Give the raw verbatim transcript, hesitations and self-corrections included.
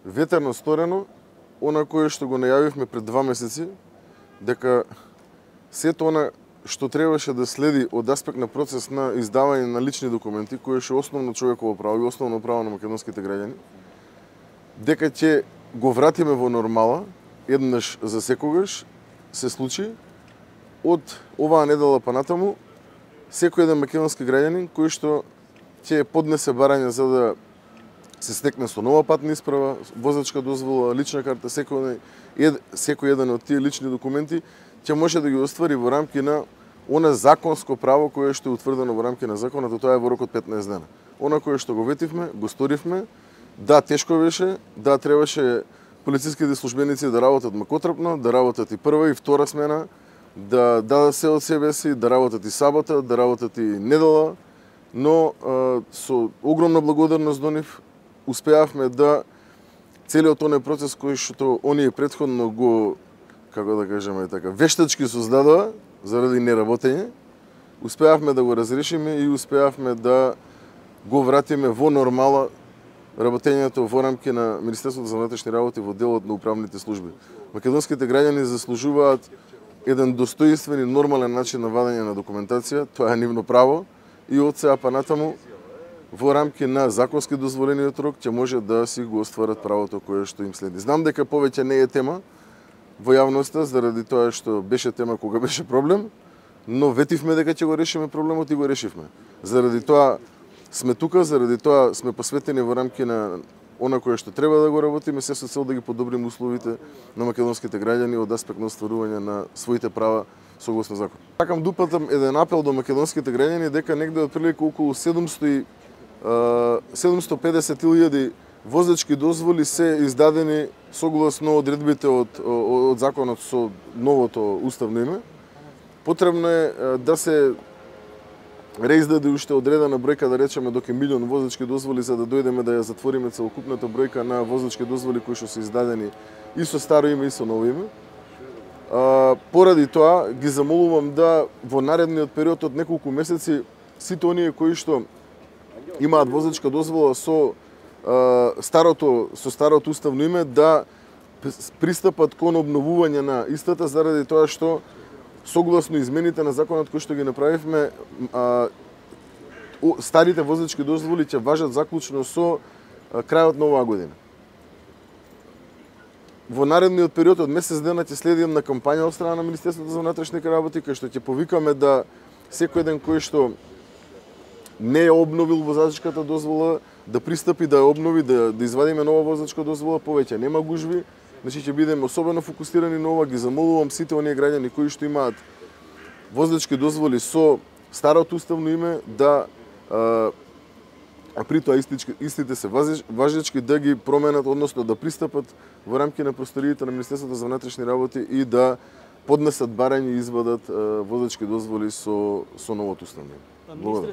ветерно сторено, она кое што го најавивме пред два месеци, дека сето она што требаше да следи од аспект на процес на издавање на лични документи, кое што е основно човеково право и основно право на македонските граѓани, дека ќе го вратиме во нормала, еднаш за секогаш, се случи, од оваа недела па натаму, секој еден македонски граѓанин кој што ќе поднесе барање за да се стекне со нова патна исправа, возачка дозвола, лична карта, секој, ед, секој еден од тие лични документи ќе може да ги оствари во рамки на она законско право кое што е утврдено во рамки на законот, а тоа е во рок од петнаесет дена. Она кое што го ветивме, го сторивме. Да, тешко беше, да, требаше полициските службеници да работат макотрпно, да работат и прва и втора смена, да дадат се од себе си, да работат и сабота, да работат и недела, но а, со огромна благодарност до нив успеавме да целиот тој процес кој што оние претходно го, како да кажеме така, вештачки создадоа заради неработење, успеавме да го разрешиме и успеавме да го вратиме во нормала работењето во рамки на Министерството за внатрешни работи во делот на управните служби. Македонските граѓани заслужуваат еден достоинствен и нормален начин на вадење на документација, тоа е нивно право и од сега па натаму во рамки на законски дозволениот рок ќе може да си го остварат правото кое што им следи. Знам дека повеќе не е тема во јавноста заради тоа што беше тема кога беше проблем, но ветивме дека ќе го решиме проблемот и го решивме. Заради тоа сме тука, заради тоа сме посветени во рамки на она кое што треба да го работиме, се со цел да ги подобриме условите на македонските граѓани од аспект на остварување на своите права согласно закон. Сакам да упатам еден апел до македонските граѓани дека негде отприлика околу седумсто седумсто и педесет илјади возачки дозволи се издадени согласно одредбите од, од законот со новото уставно име. Потребно е да се реиздаде уште одредена бројка, да речеме до милион возачки дозволи, за да дојдеме да ја затвориме целокупната бројка на возачки дозволи кои што се издадени и со старо име и со ново име. А, поради тоа ги замолувам да во наредниот период од неколку месеци сите оние кои што имаат возачка дозвола со а, старото со старото уставно име да пристапат кон обновување на истата, заради тоа што согласно измените на законот кои што ги направивме, а, старите возачки дозволи ќе важат заклучно со а, крајот на оваа година. Во наредниот период од месец дена ќе следим на кампања од страна на Министерството за внатрешни работи, кај што ќе повикаме да секој еден кој што не е обновил возачката дозвола да пристапи да ја обнови, да, да извадиме нова возачка дозвола, повеќе нема гужви. Значи ќе бидеме особено фокусирани на ова. Ги замолувам сите оние граѓани кои што имаат возачки дозволи со старото уставно име да а, а при тоа истите се важечки да ги променат, односно да пристапат во рамки на просториите на Министерството за внатрешни работи и да поднесат барање и извадат а, возачки дозволи со со новото уставно име. Благодарам.